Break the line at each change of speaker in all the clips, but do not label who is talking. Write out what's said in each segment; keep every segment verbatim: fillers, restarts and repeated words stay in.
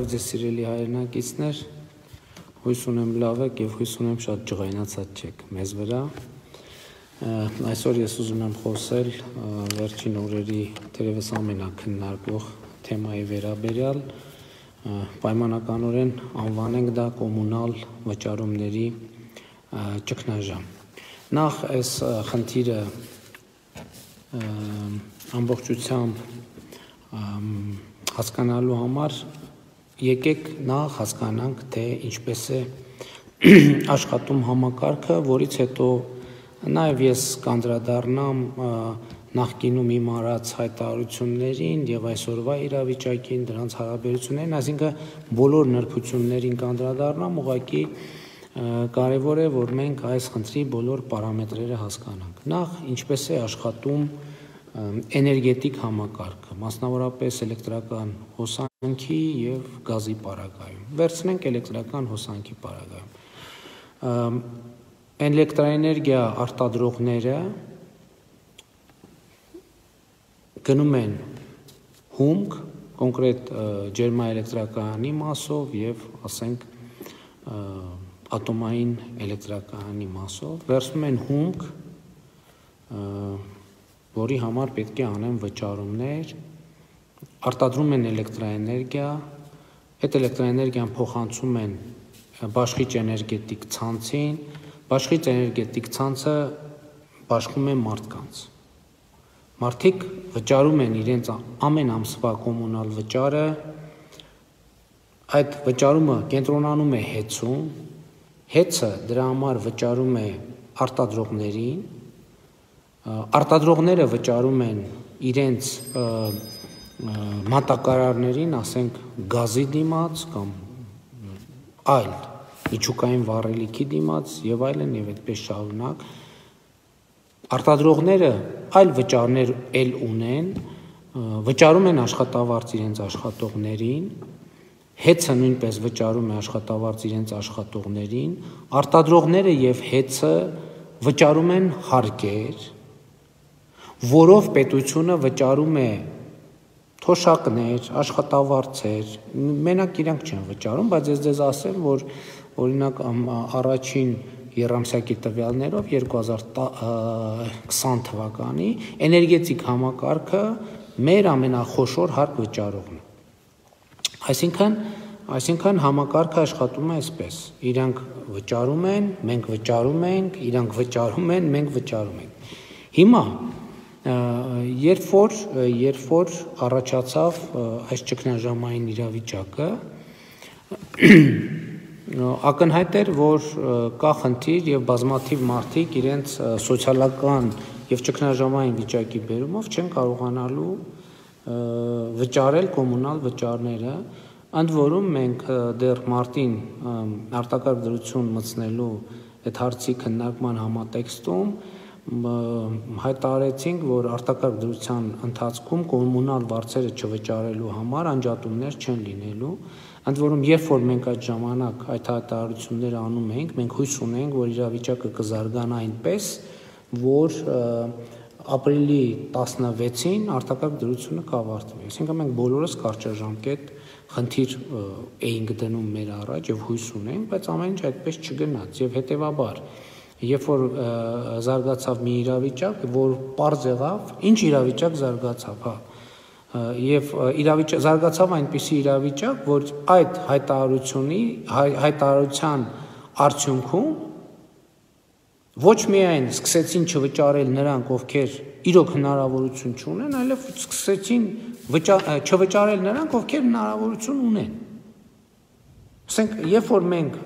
Բարև ձեզ սիրելի հայրենակիցներ, հույս ունեմ լավ եք և հույս ունեմ շատ ջղայնացած չեք մեզ վրա։ Այսօր ես ուզում եմ խոսել վերջին օրերի թերևս ամենաքննարկվող թեմայի վերաբերյալ, պայմանականորեն անվանենք դա կոմունալ վճարումների ճգնաժամ։ Նախ այս խնդիրը ամբողջությամբ հասկանալու համար եկեք նախ հասկանանք, թե ինչպես է աշխատում համակարգը, որից հետո նաև ես կանդրադառնամ նախկինում իմ արած հայտարարություններին և այսօրվա իրավիճակին, դրանց հարաբերություններին, այսինքն բոլոր նրբություններին կանդրադառնամ, ուղղակի կարևոր է, որ մենք այս խնդրի բոլոր պարամետրերը հասկանանք։ Նախ ինչպես է աշխատում էներգետիկ համակարգը, մասնավորապես էլեկտրական հոսանքի և գազի պարագայում։ Վերցնենք էլեկտրական հոսանքի պարագայում։ Էլեկտրաէներգիա արտադրողները գնում են հումք, կոնկրետ ջերմաէլեկտրակայանի մասով և ասենք ատոմային էլեկտրակայանի մասով, վերցնում են հումք, որի համար պետք է անեն վճարումներ, արտադրում են էլեկտրաէներգիա, այդ էլեկտրաէներգիան փոխանցում են բաշխիչ էներգետիկ ցանցին, բաշխիչ էներգետիկ ցանցը բաշխում է մարդկանց։ Մարդիկ վճարում են իրենց ամեն ամսվա կոմունալ վճարը, այդ վճարումը կենտրոնանում է հեծում, հեծը դրա համար վճարում է արտադրողներին, արտադրողները վճարում են իրենց մատակարարներին, ասենք գազի դիմաց կամ այլ միջուկային վառելիքի դիմաց և այլն և այդպես շարունակ, արտադրողները այլ վճարներ էլ ունեն, վճարում են աշխատավարձ իրենց աշխատողներին, հեծը նույնպես վճարում է աշխատավարձ իրենց աշխատողներին, արտադրողները և հեծը վճարում են հարկեր, որով պետությունը վճարում է թոշակներ, աշխատավարձեր, մենակ իրանք չեն վճարում, բայց ես ձեզ ասեմ, որ օրինակ առաջին եռամսյակի տվյալներով երկու հազար քսան թվականի էներգետիկ համակարգը մեր ամենախոշոր հարկ վճարողն է։ Այսինքն, այսինքն համակարգը աշխատում է այսպես, իրանք վճարում են, մենք վճարում ենք, իրանք վճարում են, մենք վճարում ենք։ Հիմա երբ որ, երբ որ առաջացավ այս ճգնաժամային իրավիճակը, ակնհայտ էր, որ կա խնդիր և բազմաթիվ մարդիկ իրենց սոցիալական և ճգնաժամային վիճակի բերումով չեն կարողանալու վճարել կոմունալ վճարները, ընդ որում մենք դեռ մարտին արտակարգ դրություն մտցնելու այդ հարցի քննարկման համատեքստում հայտարարեցինք, որ արտակարգ դրության ընթացքում կոմունալ վարձերը չվճարելու համար անջատումներ չեն լինելու, ընդ որում երբ որ մենք այդ ժամանակ այդ հայտարարությունները անում ենք, մենք հույս ունենք, որ իրավիճակը կզարգանա այնպես, որ ապրիլի տասնվեցին արտակարգ դրությունը կավարտվի։ Այսինքն մենք բոլորս կարճաժամկետ խնդիր էինք դնում մեր առաջ և հույս ունենք, բայց ամեն ինչ այդպես չգնաց և հետևաբար երբ որ զարգացավ մի իրավիճակ, որ պարզ եղավ, ինչ իրավիճակ զարգացավ, հա, և զարգացավ այնպիսի իրավիճակ, որ այդ հայտարարությունի, հայտարարության արդյունքում ոչ միայն սկսեցին չվճարել նրանք, ովքեր իրոք հնարավորություն չունեն, այլև սկսեցին չվճարել նրանք, ովքեր հնարավորություն ունեն։ Ասենք, երբ որ մենք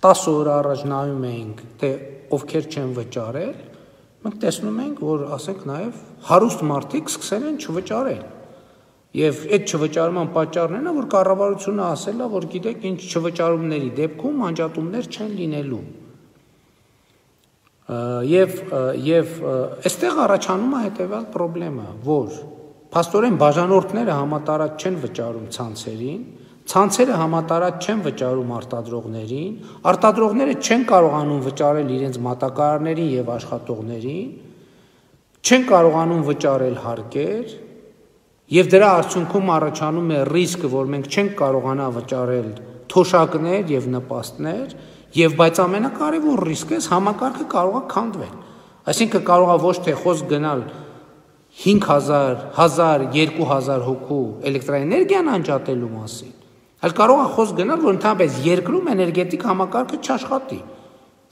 տասը օր առաջ նայում էինք, թե ովքեր չեն վճարել, մենք տեսնում ենք, որ ասենք նաև հարուստ մարդիկ սկսել են չվճարել։ Եվ այդ չվճարման պատճառն է, որ կառավարությունը ասել է, որ գիտեք, ինչ չվճարումների դեպքում անջատումներ չեն լինելու։ Եվ և այստեղ առաջանում է հետևյալ պրոբլեմը, որ փաստորեն բաժանորդները համատարած չեն վճարում ցանցերին, ցանցերը համատարած չեն վճարում արտադրողներին, արտադրողները չեն կարողանում վճարել իրենց մատակարարներին և աշխատողներին, չեն կարողանում վճարել հարկեր Եվ դրա արդյունքում առաջանում է ռիսկը, որ մենք չենք կարողանա վճարել թոշակներ եւ նպաստներ, եւ բայց ամենակարևոր ռիսկը է համակարգը կարող է քանդվել։ Այսինքն կարող է ոչ թե խոսք գնալ հինգ հազար, հազար, երկու հազար հոգու էլեկտրաէներգիան անջատելու մասին, այլ կարող է խոսք գնալ, որ ընդհանրապես երկրում էներգետիկ համակարգը չաշխատի,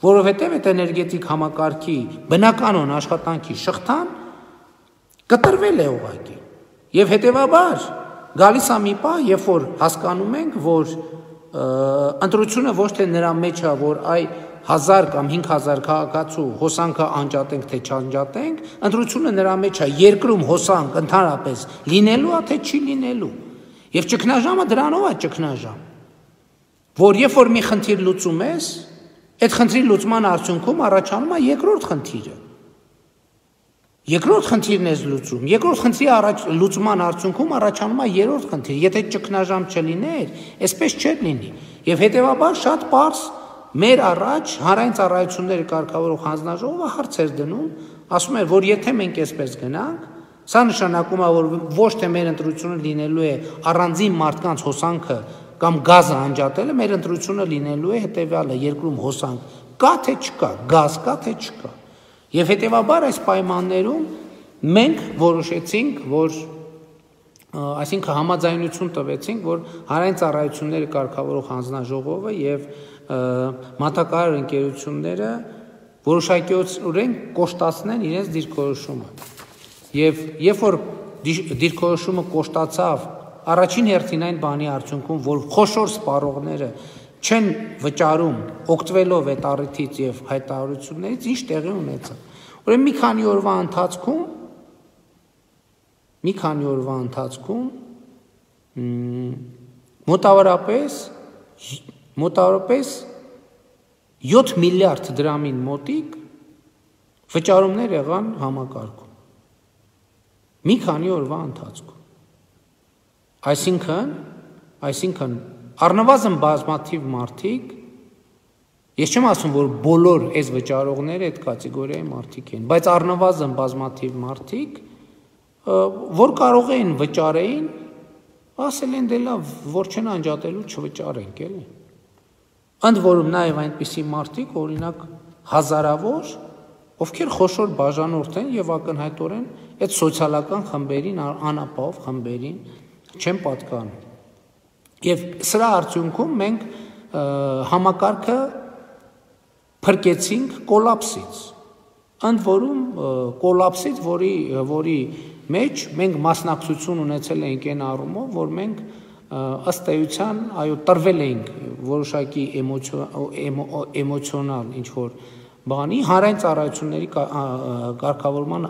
որովհետեւ այդ էներգետիկ համակարգի բնականon աշխատանքի շղթան կտրվել է ուղղակի։ Եվ հետևաբար գալիս է մի պահ, երբ որ հասկանում ենք, որ ընտրությունը ոչ թե նրա մեջ է, որ այ հազար կամ հինգ հազար քաղաքացու հոսանքը անջատենք, թե չանջատենք, ընտրությունը նրա մեջ է երկրում հոսանք ընդհանրապես լինելու է, թե չի լինելու։ Եվ ճգնաժամը դրանով է ճգնաժամ, որ երբ որ մի խնդիր լուծում ես, այդ խնդրի լուծման արդյունքում առաջանում է երկրորդ խնդիրը։ Երկրորդ խնդիրն է լուծում, երկրորդ խնդրի առաջ լուծման արդյունքում առաջանում է երրորդ խնդիր։ Եթե ճգնաժամ չլիներ, այսպես չէր լինի։ Եվ հետևաբար շատ պարզ մեր առաջ հանրային ծառայությունների կարգավորող հանձնաժողովը հարց էր դնում, ասում էր, որ եթե մենք այսպես գնանք, սա նշանակում է, որ ոչ թե մեր ընտրությունը լինելու է առանձին մարդկանց հոսանքը կամ գազը անջատելը, մեր ընտրությունը լինելու է հետևյալը, երկրում հոսանք կա թե չկա, գազ կա թե չկա։ Եվ հետևաբար այս պայմաններում մենք որոշեցինք, որ այսինքն համաձայնություն տվեցինք, որ հանրային ծառայությունների կարգավորող հանձնաժողովը եւ մատակարար ընկերությունները որոշակիորեն կոշտացնեն իրենց դիրքորոշումը։ Եվ երբ որ դիրքորոշումը կոշտացավ, առաջին հերթին այն բանի արդյունքում, որ խոշոր սպառողները չեն վճարում օգտվելով այդ առիթից եւ հայտարարություններից, ինչ տեղի ունեցավ։ Ուրեմն մի քանի օրվա ընթացքում մի քանի օրվա ընթացքում մոտավորապես մոտավորապես յոթ միլիարդ դրամին մոտիկ վճարումներ եղան համակարգում։ Մի քանի օրվա ընթացքում։ Այսինքն, այսինքն առնվազն բազմաթիվ մարդիկ, ես չեմ ասում, որ բոլոր այս վճարողները այդ կատեգորիայի մարդիկ են, բայց առնվազն բազմաթիվ մարդիկ, որ կարող էին վճարեին, ասել են դե լավ, որ չեն անջատելու չվճարենք, էլի։ Ընդ որում նաև այնպիսի մարդիկ, օրինակ հազարավոր, ովքեր խոշոր բաժանորդ են եւ ակնհայտորեն այդ սոցիալական խմբերին, անապահով խմբերին չեն պատկանում։ Եվ սրա արդյունքում մենք համակարգը փրկեցինք կոլապսից, ընդ որում կոլապսից, որի որի մեջ մենք մասնակցություն ունեցել էինք այն առումով, որ մենք ըստ էության, այո, տրվել էինք որոշակի էմոցիոնալ ինչ-որ բանի, հանրային ծառայությունների կարգավորման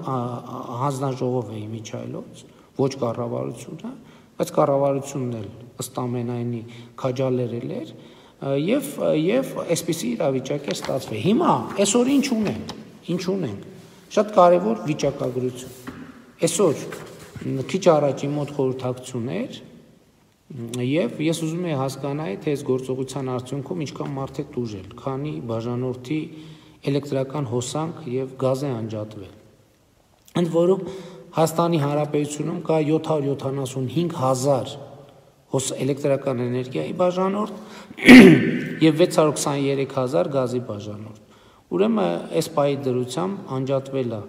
հանձնաժողով է իմիջայլոց, ոչ կառավարությունը, բայց կառավարությունն էլ ըստ ամենայնի քաջալերել էր եւ եւ այսպիսի իրավիճակ է ստացվել։ Հիմա այսօր ինչ ունենք, ինչ ունենք։ Շատ կարեւոր վիճակագրություն։ Այսօր քիչ առաջ իմ մոտ խորհրդակցություն էր եւ ես ուզում եի հասկանալ, թե այս գործողության արդյունքում ինչքան մարդ է տուժել, քանի բաժանորդի էլեկտրական հոսանք եւ գազ է անջատվել։ Ընդ որում Հայաստանի Հանրապետությունում կա յոթ հարյուր յոթանասունհինգ հազար հոս էլեկտրական էներգիայի բաժանորդ եւ վեց հարյուր քսաներեք հազար գազի բաժանորդ։ Ուրեմն այս պայի դրությամբ անջատվել է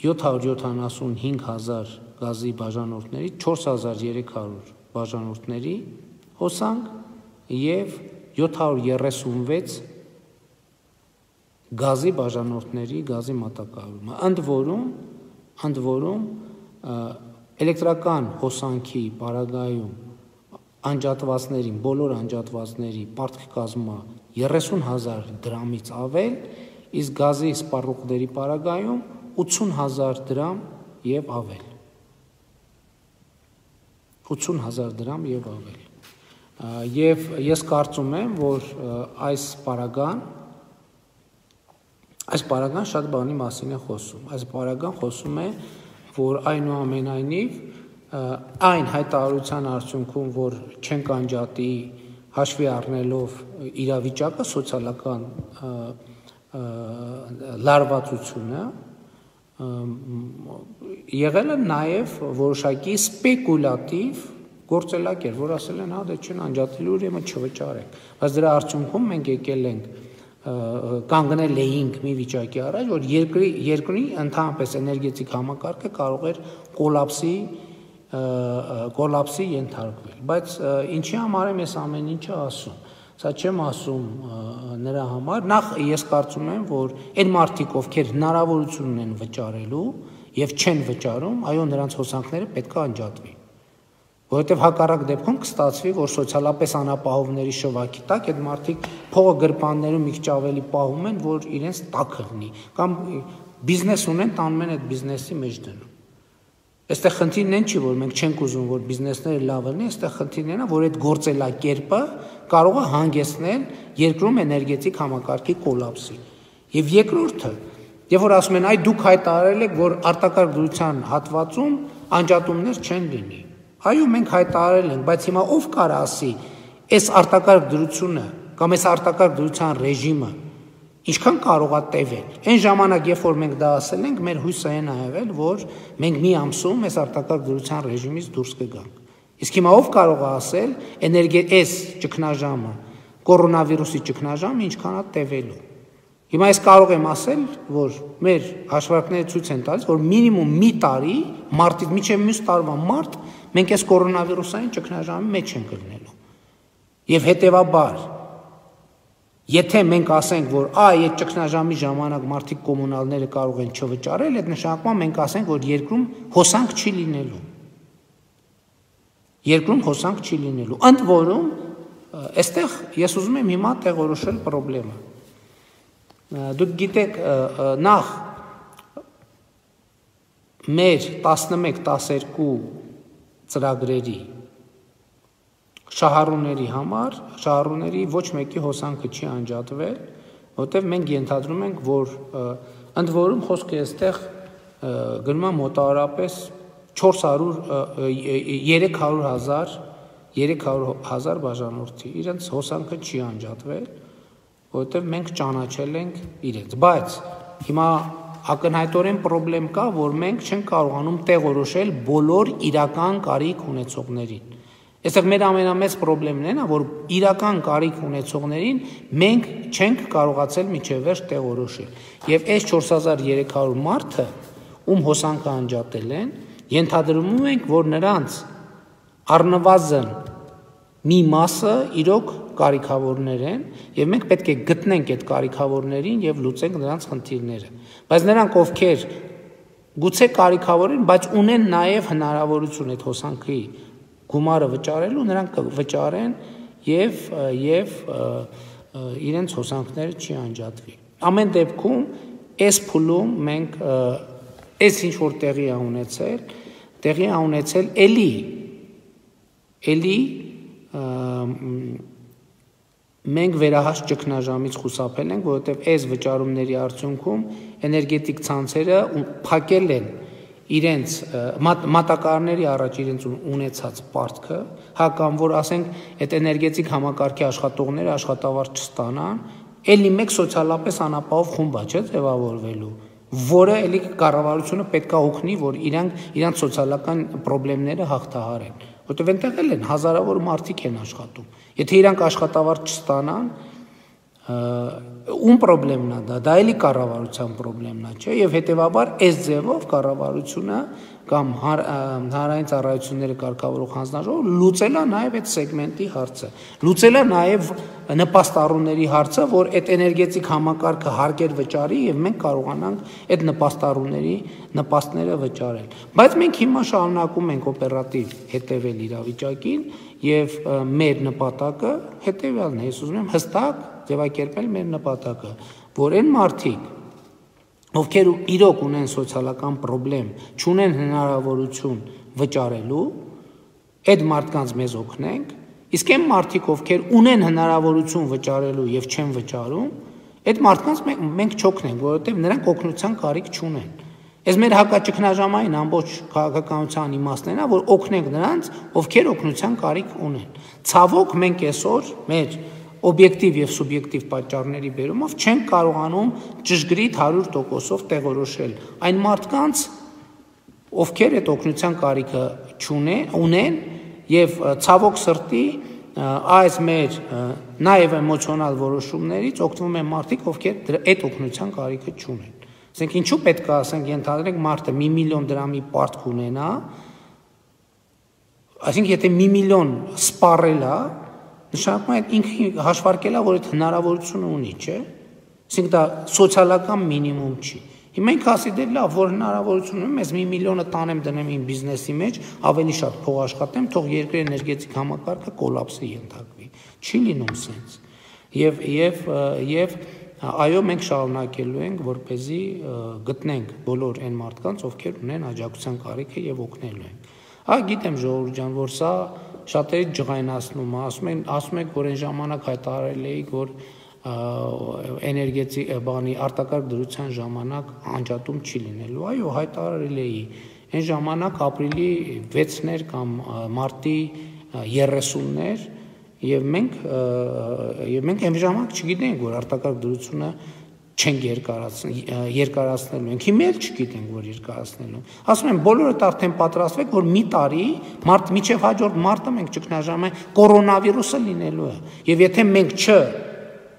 յոթ հարյուր յոթանասունհինգ հազար գազի բաժանորդների չորս հազար երեք հարյուր բաժանորդների հոսանք եւ յոթ հարյուր երեսունվեց գազի բաժանորդների գազի մատակարարումը։ Ընդ որում ընդ որում էլեկտրական հոսանքի պարագայում անջատվածներին, բոլոր անջատվածների պարտքի կազմը երեսուն հազար դրամից ավել, իսկ գազի սպառողների պարագայում ութսուն հազար դրամ եւ ավել։ ութսուն հազար դրամ եւ ավել։ Եվ ես կարծում եմ, որ այս պարագան այս պարագան շատ բանի մասին է խոսում։ Այս պարագան խոսում է, որ այնուամենայնիվ այն հայտարարության արդյունքում, որ չենք անջատի հաշվի առնելով իրավիճակը, սոցիալական լարվածությունը, եղել է նաև որոշակի սպեկուլատիվ գործելակեր, որ ասել են, հա, դե չեն անջատելու ուրեմն չվճարենք, բայց դրա արդյունքում մենք եկել ենք կանգնել էինք մի վիճակի առաջ, որ երկրի երկրի ընդհանրապես էներգետիկ համակարգը կարող էր կոլապսի կոլապսի ենթարկվել, բայց ինչի համար եմ ես ամեն ինչը ասում, սա չեմ ասում նրա համար, նախ ես կարծում եմ, որ այն մարդիկ, ովքեր հնարավորություն ունեն վճարելու եւ չեն վճարում, այո, նրանց հոսանքները պետք է անջատվի, որովհետեւ հակառակ դեպքում կստացվի, որ սոցիալապես անապահովների շվակի տակ այդ մարդիկ փողը գրպաններում մի քիչ ավելի պահում են, որ իրենց տակը լինի, կամ բիզնես ունեն, տանում են այդ բիզնեսի մեջ դնում։ Այստեղ խնդիրն այն չի, որ մենք չենք ուզում, որ բիզնեսները լավ լինի, այստեղ խնդիրն այն է, որ այդ գործելակերպը կարող է հանգեցնել երկրում էներգետիկ համակարգի կոլապսի։ Եվ երկրորդը, երբ որ ասում են, այ դուք հայտարարել եք, որ արտակարգ դրության հատվածում անջատումներ չեն լինի։ Այո, մենք հայտարարել ենք, բայց հիմա ով կարող ասի, այս արտակարգ դրությունը կամ այս արտակարգ դրության ռեժիմը ինչքան կարող է տևել։ Այն ժամանակ, երբ որ մենք դա ասել ենք, մեր հույսը այն է եղել, որ մենք մի ամսում այս արտակարգ դրության ռեժիմից դուրս կգանք։ Իսկ հիմա ով կարող է ասել, էներգետիկ ճգնաժամը, կորոնավիրուսի ճգնաժամը ինչքան է տևելու։ Հիմա ես կարող եմ ասել, որ մեր հաշվարկները ցույց են տալիս, որ մինիմում մի տարի, մարտից մինչև մյուս տարվա մարտ, մենք այս կորոնավիրուսային ճգնաժամի մեջ ենք գտնելու։ Եվ հետևաբար, եթե մենք ասենք, որ այ այդ ճգնաժամի ժամանակ մարդիկ կոմունալները կարող են չվճարել, այդ նշանակում մենք ասենք, որ երկրում հոսանք չի լինելու։ Երկրում հոսանք չի լինելու։ Ընդ որում, այստեղ ես ուզում եմ հիմա տեղորոշել խնդրեմը։ Դուք գիտեք, նախ մեր տասնմեկ տասներկու ծրագրերի շահառուների համար, շահառուների ոչ մեկի հոսանքը չի անջատվել, որտեղ մենք ենթադրում ենք, որ ընդ որում խոսքը այստեղ գնում է մոտավորապես չորս հարյուր երեք հարյուր հազար երեք հարյուր հազար բաժանորդի, իրենց հոսանքը չի անջատվել, որովհետև մենք ճանաչել ենք իրենց, բայց հիմա ակնհայտորեն խնդրեմ կա, որ մենք չենք կարողանում տեղորոշել բոլոր իրական կարիք ունեցողներին։ Այստեղ մեր ամենամեծ խնդիրն այն է, որ իրական կարիք ունեցողներին մենք չենք կարողացել մինչև վերջ տեղորոշել։ Եվ այս չորս հազար երեք հարյուր մարդը, ում հոսանքը անջատել են, ենթադրում ենք, որ նրանց առնվազն մի մասը իրոք կարիքավորներ են, եւ մենք պետք է գտնենք այդ կարիքավորներին եւ լուծենք նրանց խնդիրները։ Բայց նրանք, ովքեր գուցե կարիքավոր են, բայց ունեն նաեւ հնարավորություն այդ հոսանքի գումարը վճարելու, նրանք վճարեն եւ եւ իրենց հոսանքները չի անջատվի։ Ամեն դեպքում այս փուլում մենք այս ինչ որ տեղի է ունեցել, տեղի է ունեցել էլի էլի մենք վերահաս ճգնաժամից խուսափել ենք, որովհետև այս վճարումների արդյունքում էներգետիկ ցանցերը փակել են իրենց մատակարարների առաջ իրենց ունեցած պարտքը, հա կամ որ ասենք այդ էներգետիկ համակարգի աշխատողները աշխատավարձ չստանան, էլի մեկ սոցիալապես անապահով խումբ է, չէ՞, ձևավորվելու, որը էլի կառավարությունը պետք է օգնի, որ իրանք իրանք սոցիալական խնդիրները հաղթահարեն, որտեղ այնտեղ էլ են հազարավոր մարդիկ են աշխատում։ Եթե իրանք աշխատավարձ չստանան, ում խնդիրն է դա, դա էլի կառավարության խնդիրն է, չէ՞, եւ հետեւաբար այս ձևով կառավարությունը կամ հանրային ծառայությունները կարգավորող հանձնաժողովը լուծել է նաեւ այդ սեգմենտի հարցը, լուծել է նաեւ նպաստառուների հարցը, որ այդ էներգետիկ համակարգը հարկեր վճարի եւ մենք կարողանանք այդ նպաստառուների նպաստները վճարել։ Բայց մենք հիմա շարունակում ենք օպերատիվ հետևել իրավիճակին եւ մեր նպատակը հետեւյալն է, ես ուզում եմ հստակ ձևակերպել մեր նպատակը, որ այն մարդիկ, ովքեր իրոք ունեն սոցիալական խնդրեմ, չունեն հնարավորություն վճարելու, այդ մարդկանց մեզ օգնենք, իսկ այն մարդիկ, ովքեր ունեն հնարավորություն վճարելու եւ չեն վճարում, այդ մարդկանց մենք չօգնենք, որովհետեւ նրանք օգնության կարիք չունեն։ Այս մեր հակաճգնաժամային ամբողջ քաղաքականության իմաստն է, որ օգնենք նրանց, ովքեր օգնության կարիք ունեն։ Ցավոք մենք այսօր մեր օբյեկտիվ եւ սուբյեկտիվ պատճառների բերումով չենք կարողանում ճշգրիտ հարյուր տոկոսով տեղորոշել այն մարդկանց, ովքեր այդ օգնության կարիքը ունեն եւ ցավոք սրտի այս մեր նաեւ էմոցիոնալ որոշումներից օգտվում են մարդիկ, ովքեր այդ օգնության կարիքը չունեն։ Ասենք ինչու պետք է ասենք ենթադրենք մարդը մի միլիոն դրամի պարտք ունենա, այսինքն եթե մի միլիոն սպառել է, նշանակում է ինքը հաշվարկել է, որ այդ հնարավորությունը ունի, չէ՞։ Այսինքն դա սոցիալական մինիմում չի։ Հիմա ինքը ասի դե լավ, որ հնարավորություն ունեմ, ես մի միլիոնը տանեմ դնեմ իմ բիզնեսի մեջ, ավելի շատ փող աշխատեմ, թող երկրի էներգետիկ համակարգը կոլապսի ենթարկվի։ Չի լինում սենց։ Եվ եւ եւ այո, մենք շարունակելու ենք, որպեսզի գտնենք բոլոր այն մարդկանց, ովքեր ունեն աջակցության կարիքը եւ օգնելու ենք։ Հա, գիտեմ ժողովուրդ ջան, որ սա շատերի ջղայնացնում է, ասում են, ասում եք, որ այն ժամանակ հայտարարել էի, որ էներգետիկ բանի արտակարգ դրության ժամանակ անջատում չի լինելու։ Այո, հայտարարել էի։ Այն ժամանակ ապրիլի վեցն էր կամ մարտի երեսուններ եւ մենք եւ մենք այն ժամանակ չգիտենք, որ արտակարգ դրությունը չենք երկարացնել, երկարացնելու ենք։ Հիմա էլ չգիտենք, որ երկարացնելու։ Ասում են, բոլորդ արդեն պատրաստվեք, որ մի տարի մարտ միջև հաջորդ մարտը մենք ճգնաժամը կորոնավիրուսը լինելու է։ Եվ եթե մենք չ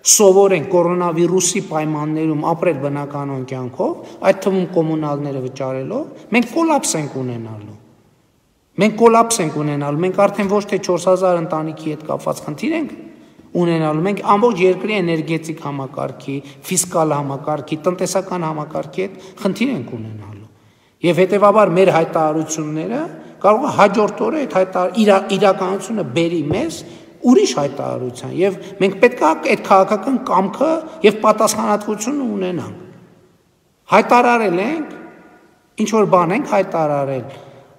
սովորենք կորոնավիրուսի պայմաններում ապրել բնականon կյանքով, այդ թվում կոմունալները վճարելով, մենք կոլապս ենք ունենալու։ Մենք կոլապս ենք ունենալու, մենք արդեն ոչ թե չորս հազար ընտանիքի հետ կապված խնդիր ենք ունենալու, մենք ամբողջ երկրի էներգետիկ համակարգի, ֆիսկալ համակարգի, տնտեսական համակարգի հետ խնդիր ենք ունենալու։ Եվ հետևաբար մեր հայտարարությունները կարող է հաջորդ օրը այդ իրականությունը բերի մեզ ուրիշ հայտարարության եւ մենք պետք է այդ քաղաքական կամքը եւ պատասխանատվությունը ունենանք։ Հայտարարել ենք, ինչ որ բան ենք հայտարարել,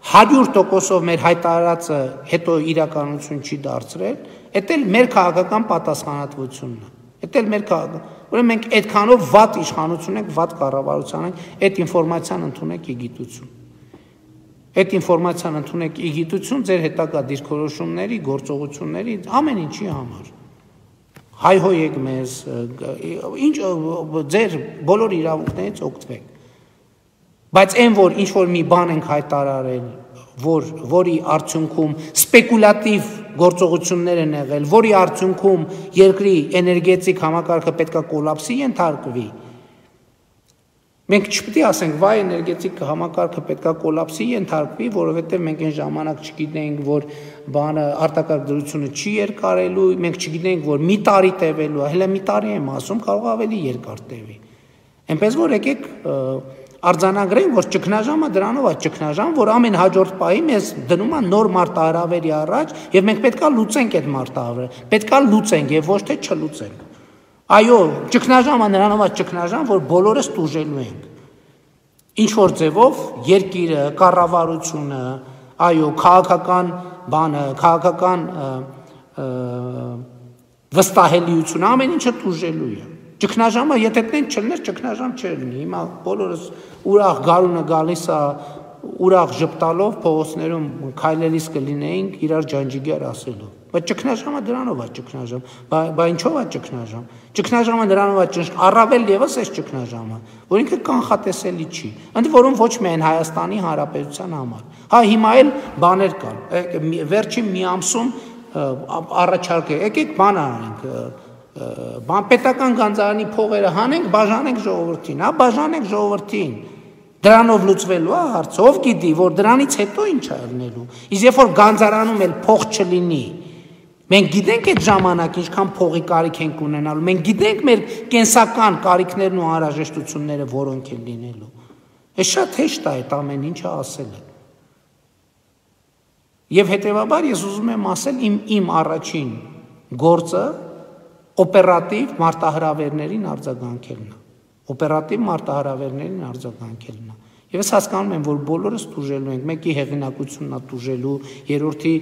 հարյուր տոկոսով մեր հայտարարածը հետո իրականություն չի դարձրել, դա էլ մեր քաղաքական պատասխանատվությունն է։ Դա էլ մեր քաղաքական, ուրեմն մենք այդքանով վատ իշխանություն ենք, վատ կառավարության ենք, այդ ինֆորմացիան ընդունեք իգիտություն։ Այդ ինֆորմացիան ընդունեք իգիտություն ձեր հետագա դիրքորոշումների, գործողությունների, ամեն ինչի համար։ Հայհոյեք մեզ, ինչ ձեր բոլոր իրավունքներից օգտվեք։ Բայց այն որ ինչ որ մի բան ենք հայտարարել, որ որի արդյունքում սպեկուլատիվ գործողություններ են եղել, որի արդյունքում երկրի էներգետիկ համակարգը պետքա կոլապսի ենթարկվի։ Մենք չպետք է ասենք, վայ էներգետիկ համակարգը պետքա կոլապսի ենթարկվի, որովհետև մենք այն ժամանակ չգիտենք, որ բանը արտակարգ դրությունը չի երկարելու, մենք չգիտենք, որ մի տարի տևելու է, հենց մի տարի եմ ասում, կարող ավելի երկար տևի։ Այնպես որ եկեք արձանագրենք, որ ճգնաժամը դրանով է ճգնաժամ, որ ամեն հաջորդ պահի մեզ դնում է նոր մարտահրավերի առաջ, եւ մենք պետքա լուծենք այդ մարտահրավերը, պետքա լուծենք եւ ոչ թե չլուծենք։ Այո, ճգնաժամը նրանով է ճգնաժամ, որ բոլորս տուժելու ենք։ Ինչ որ ձևով երկիրը, կառավարությունը, այո, քաղաքական բանը, քաղաքական վստահելիությունը, ամեն ինչը տուժելու է։ Ճգնաժամը եթե տեն չլներ, ճգնաժամ չէր լինի։ Հիմա բոլորս ուրախ գարունը գալիս է, ուրախ ժպտալով փողոցներում քայլելիս կլինեինք իրար ջանջիգեր ասելով։ Բայց ճգնաժամը դրանով է ճգնաժամ։ Բա ինչով է ճգնաժամ։ Ճգնաժամը դրանով է ճնշ, առավել եւս այս ճգնաժամը, որ ինքը կանխատեսելի չի։ Ընդ որում ոչ միայն Հայաստանի Հանրապետության համար։ Հա հիմա էլ բաներ կան։ Վերջին մի ամսում առաջարկ է, եկեք բան անենք, բան պետական գանձարանի փողերը հանենք, բաժանենք ժողովրդին, հա բաժանենք ժողովրդին։ Դրանով լուծվելու է հարցը, ով գիտի, որ դրանից հետո ինչ է ելնելու։ Իսկ երբ որ գանձարանում էլ փող չլինի, մենք գիտենք այդ ժամանակ ինչքան փողի կարիք ենք ունենալու, մենք գիտենք մեր կենսական կարիքներն ու անհրաժեշտությունները որոնք են լինելու։ Այս շատ հեշտ է այդ ամեն ինչը ասելը։ Եվ հետևաբար ես ուզում եմ ասել իմ իմ առաջին գործը օպերատիվ մարտահրավերներին արձագանքելն է։ Օպերատիվ մարտահրավերներին արձագանքելն է։ Եվ ես հասկանում եմ, որ բոլորս տուժելու ենք, մեկի հեղինակությունն է տուժելու, երրորդի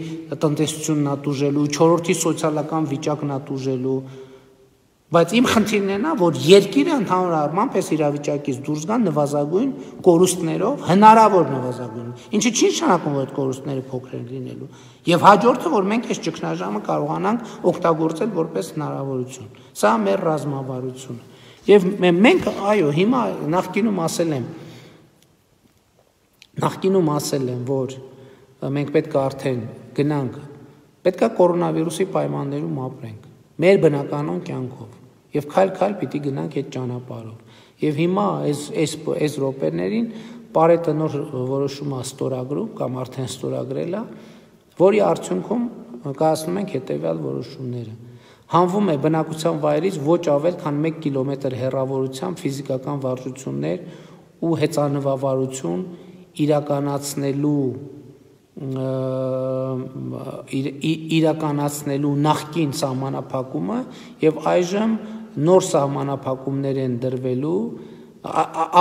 տնտեսությունն է տուժելու, չորրորդի սոցիալական վիճակն է տուժելու։ Բայց իմ խնդիրն է նա, որ երկիրը ընդհանուր առմամբ այս իրավիճակից դուրս գան նվազագույն կորուստներով, հնարավոր նվազագույն, ինչը չի նշանակում, որ այդ կորուստները փոքր են լինելու, եւ հաջորդը, որ մենք այս ճգնաժամը կարողանանք օգտագործել որպես հնարավորություն։ Սա մեր ռազմավարությունը։ Եվ մենք, այո, հիմա նախկինում ասել եմ, նախկինում ասել եմ, որ մենք պետք է արդեն գնանք, պետք է կորոնավիրուսի պայմաններում ապրենք, մեր բնականon կյանքով, եւ քայլ-քայլ պիտի գնանք այդ ճանապարհով։ Եվ հիմա այս այս այս րոպեներին Պարետը նոր որոշում է ստորագրում կամ արդեն ստորագրել է, որի արդյունքում կայացնում ենք հետեւյալ որոշումները։ Հանվում է բնակության վայրից ոչ ավել քան մեկ կիլոմետր հեռավորությամբ ֆիզիկական վարժություններ ու հեծանվավարություն իրականացնելու իրականացնելու նախկին սահմանափակումը եւ այժմ նոր սահմանափակումներ են դրվելու,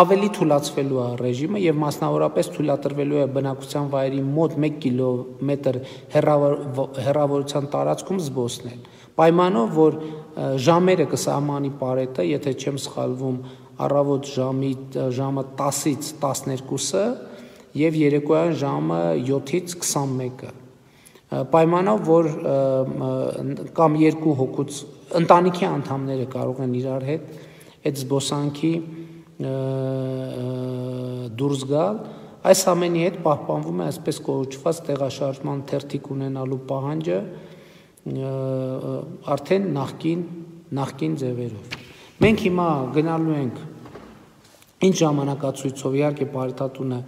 ավելի թույլատրվելու է ռեժիմը եւ մասնավորապես թույլատրվելու է բնակության վայրի մոտ մեկ կիլոմետր հեռավորության տարածքում զբոսնել։ Պայմանով, որ ժամերը կսահմանի Պարետը, եթե չեմ սխալվում, առավոտ ժամի ժամը տասից տասներկուսը եւ երեկոյան ժամը յոթից քսանմեկը։ Պայմանով, որ կամ երկու հոգուց ընտանիքի անդամները կարող են իրար հետ այդ զբոսանքի դուրս գալ, այս ամենի հետ պահպանվում է այսպես կոչված տեղաշարժման թերթիկ ունենալու պահանջը արդեն նախկին նախկին ձևերով։ Մենք հիմա գնալու ենք ինչ ժամանակացույցով, իհարկե Պարետատունը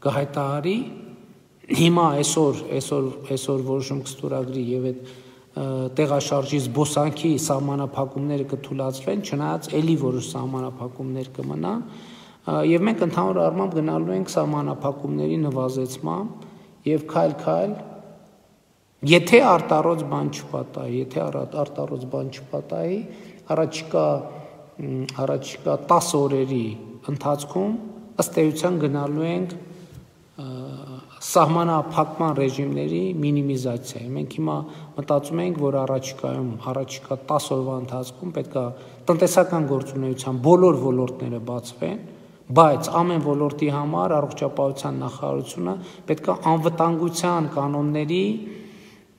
կհայտարարի, հիմա այսօր այսօր այսօր որոշում կստորագրի եւ այդ տեղաշարժի զբոսանքի սահմանափակումները կթույլատրվեն, չնայած էլի որոշ սահմանափակումներ կմնան, եւ մենք ընդհանուր առմամբ գնալու ենք սահմանափակումների նվազեցման եւ քայլ-քայլ, եթե արտառոց բան չպատահի, եթե արտառոց բան չպատահի, առաջիկա առաջիկա տասը օրերի ընթացքում ըստ էության գնալու ենք սահմանափակման ռեժիմների մինիմիզացիայի։ Մենք հիմա մտածում ենք, որ առաջիկայում, առաջիկա տասը օրվա ընթացքում պետք է տնտեսական գործունեության բոլոր ոլորտները բացվեն, բայց ամեն ոլորտի համար առողջապահության նախարարությունը պետք է անվտանգության կանոնների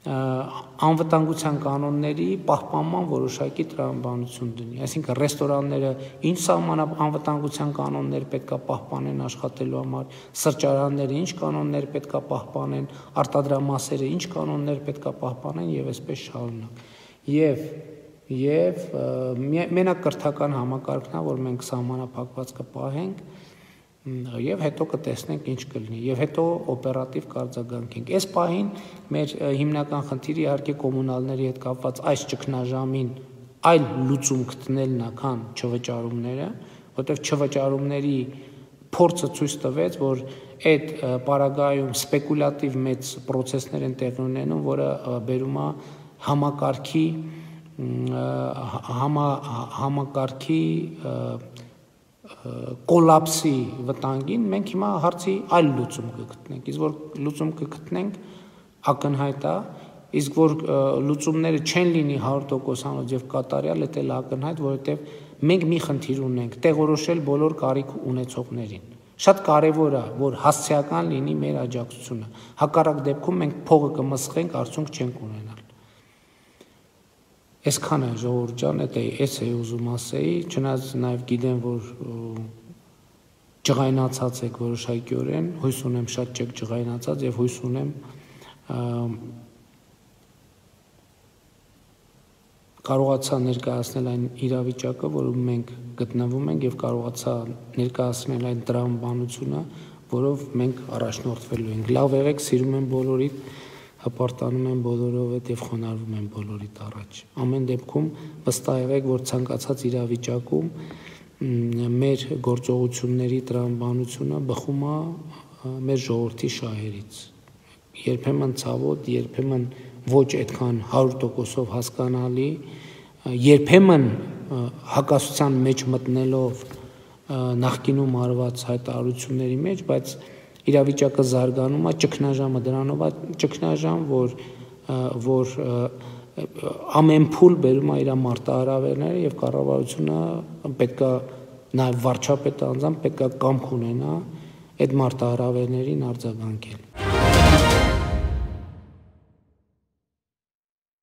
անվտանգության կանոնների պահպանման որոշակի տրամաբանություն դնի, այսինքն ռեստորանները ինչ անվտանգության կանոններ պետք է պահպանեն աշխատելու համար, սրճարանները ինչ կանոններ պետք է պահպանեն, արտադրամասերը ինչ կանոններ պետք է պահպանեն եւ այսպես շարունակ։ Եվ եւ մենակ կրթական համակարգն է, որ մենք սահմանափակված կպահենք եւ հետո կտեսնենք ինչ կլինի եւ հետո օպերատիվ կարձագանքենք։ Այս պահին մեր հիմնական խնդիրը իհարկե կոմունալների հետ կապված այս ճգնաժամին այլ լուծում գտնելն է, քան չվճարումները, որտեղ չվճարումների փորձը ցույց տվեց, որ այդ պարագայում սպեկուլատիվ մեծ process-ներ են տեղի ունենում, որը բերում է համակարգի համա համակարգի կոլապսի վտանգին, մենք հիմա հարցի այլ լուծում կգտնենք, իսկ որ լուծում կգտնենք ակնհայտ է, իսկ որ լուծումները չեն լինի հարյուր տոկոսանոց եւ կատարյալ, դա էլ ակնհայտ, որովհետեւ մենք մի խնդիր ունենք՝ տեղորոշել բոլոր կարիք ունեցողներին։ Շատ կարևոր է, որ հասցեական լինի մեր աջակցությունը։ Հակառակ դեպքում մենք փողը կմսխենք, արդյունք չենք ունենալ։ Այսքան է, ժողովուրդ ջան, դա էս է ուզում ասեի, չնայած նաև գիտեմ, որ ջղայնացած եք որոշակիորեն, հույս ունեմ շատ չեք ջղայնացած եւ հույս ունեմ կարողացա ներկայացնել այն իրավիճակը, որում մենք գտնվում ենք եւ կարողացա ներկայացնել այն տրամաբանությունը, որով մենք առաջնորդվելու ենք։ Լավ եղեք, սիրում եմ բոլորիդ, հպարտանում եմ բոլորով հետ եւ խոնարհվում եմ բոլորիդ առաջ։ Ամեն դեպքում վստահ եղեք, որ ցանկացած իրավիճակում մեր գործողությունների տրամաբանությունը բխում է մեր ժողովրդի շահերից։ Երբեմն ցավոտ, երբեմն ոչ այդքան հարյուր տոկոսով հասկանալի, երբեմն հակասության մեջ մտնելով նախկինում արված հայտարարությունների մեջ, բայց իրավիճակը զարգանում է, ճգնաժամը դրանով է ճգնաժամ, որ որ ամեն փուլ բերում է իր մարտահրավերները եւ կառավարությունը պետքա նաեւ վարչապետը անձամբ պետքա կամք ունենա այդ մարտահրավերներին արձագանքել։